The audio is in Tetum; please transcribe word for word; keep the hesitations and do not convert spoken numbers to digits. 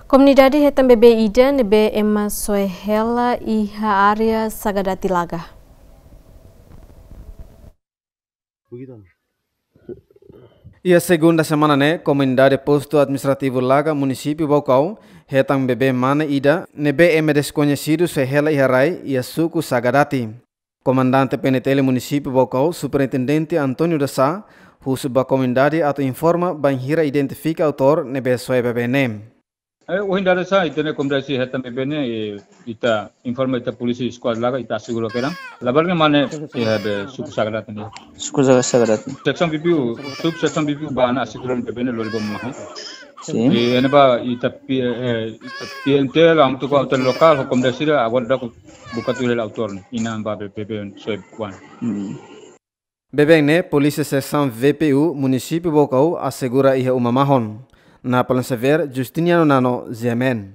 Komunidade hetan bebé ida ne'ebé ema soe hela iha área Sagadati Laga. Iha segunda semana ne'e, komunidade Postu Administrativu Laga, Munisípiu Baucau, hetan bebé mane ida ne'ebé ema deskoñesidu soe hela iha rai iha suku Sagadati. Komandante P N T L Munisípiu Baucau, Superintendente António da Sá, husu ba komunidade atu informa bainhira identifika autór ne'ebé soe bebé ne'e. Eh, ohin dada sa, ita-nia komunidade sira hetan bebé ne'e, eh, ita informa ita polísia skuadra Laga, ita asegura kedan. Labarik ne'e mane, eh, be suku Sagadati ne'e. Suku Sagadati. Seksaun B P U, sub seksaun B P U ba ona asegura bebé ne'e lori ba uma mahon. Sin. Eh, ne'ebá ita P-, eh, ita P N T L, hamutuk ho autoridade lokál, ho komunidade sira, agora daudaun buka tuir hela autór ne'e, inan ba be-, bebé soe oan. Hmm. Bebé ne'e, Polísia Seksaun V P U Munisípiu Baucau asegura iha uma mahon. Napoleon Xavier, Justiniano Nano, G M N.